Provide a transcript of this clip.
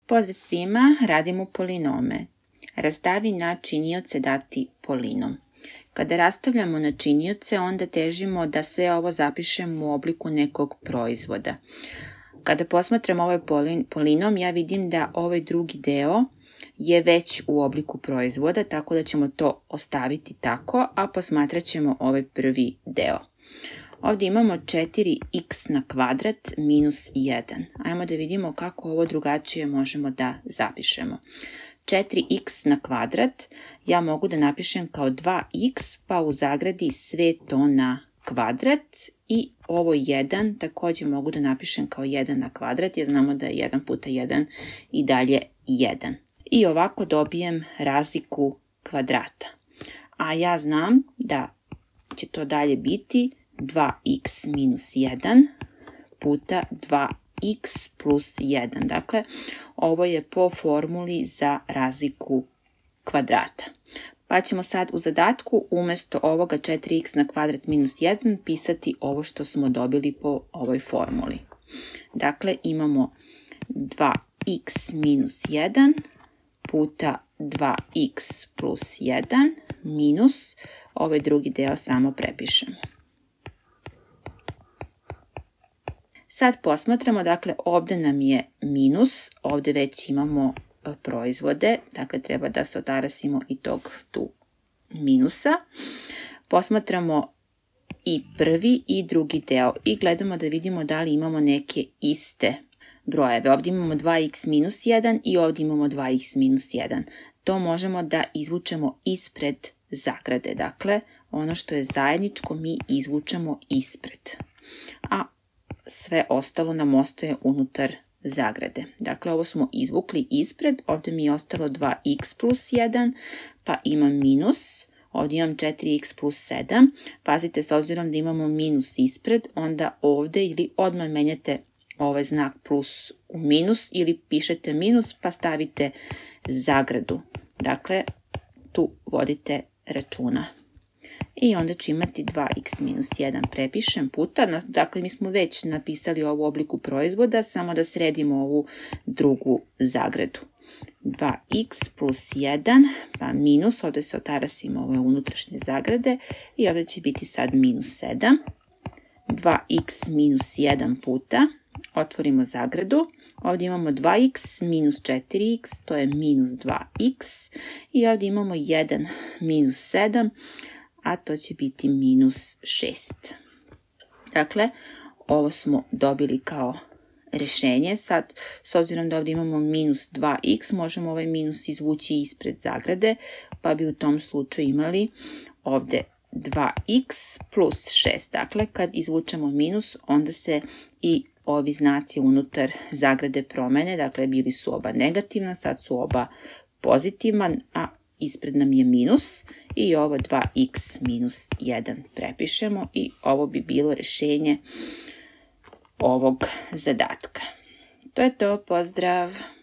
Pozdrav svima, radimo polinome. Rastavi na činioce dati polinom. Kada rastavljamo na činioce, onda težimo da sve ovo zapišemo u obliku nekog proizvoda. Kada posmatram ovaj polinom, ja vidim da ovaj drugi deo je već u obliku proizvoda, tako da ćemo to ostaviti tako, a posmatrat ćemo ovaj prvi deo. Ovdje imamo 4x na kvadrat minus 1. Ajmo da vidimo kako ovo drugačije možemo da zapišemo. 4x na kvadrat ja mogu da napišem kao 2x, pa u zagradi sve to na kvadrat i ovo 1 također mogu da napišem kao 1 na kvadrat, jer znamo da je 1 puta 1 i dalje 1. I ovako dobijem razliku kvadrata. A ja znam da će to dalje biti 2x minus 1 puta 2x plus 1. Dakle, ovo je po formuli za razliku kvadrata. Pa ćemo sad u zadatku umjesto ovoga 4x na kvadrat minus 1 pisati ovo što smo dobili po ovoj formuli. Dakle, imamo 2x minus 1 puta 2x plus 1 minus ovaj drugi deo samo prepišemo. Sad posmatramo, dakle ovdje nam je minus, ovdje već imamo proizvode, dakle treba da se otarasimo i tog tu minusa. Posmatramo i prvi i drugi deo i gledamo da vidimo da li imamo neke iste brojeve. Ovdje imamo 2x minus 1 i ovdje imamo 2x minus 1. To možemo da izvučemo ispred zagrade, dakle ono što je zajedničko mi izvučemo ispred. A sve ostalo nam ostaje unutar zagrade. Dakle, ovo smo izvukli ispred, ovdje mi je ostalo 2x plus 1, pa imam minus, ovdje imam 4x plus 7. Pazite, s obzirom da imamo minus ispred, onda ovdje ili odmah menjate ovaj znak plus u minus ili pišete minus pa stavite zagradu. Dakle, tu vodite računa. I onda ću imati 2x minus 1 prepišem puta, dakle mi smo već napisali ovu obliku proizvoda, samo da sredimo ovu drugu zagradu. 2x plus 1 pa minus, ovdje se otarasimo ove unutrašnje zagrade i ovdje će biti sad minus 7. 2x minus 1 puta, otvorimo zagradu, ovdje imamo 2x minus 4x, to je minus 2x i ovdje imamo 1 minus 7, a to će biti minus 6. Dakle, ovo smo dobili kao rješenje. Sad, s obzirom da ovdje imamo minus 2x, možemo ovaj minus izvući ispred zagrade, pa bi u tom slučaju imali ovdje 2x plus 6. Dakle, kad izvučemo minus, onda se i ovi znaci unutar zagrade promene. Dakle, bili su oba negativna, sad su oba pozitivna, a ispred nam je minus i ovo 2x minus 1 prepišemo i ovo bi bilo rješenje ovog zadatka. To je to, pozdrav!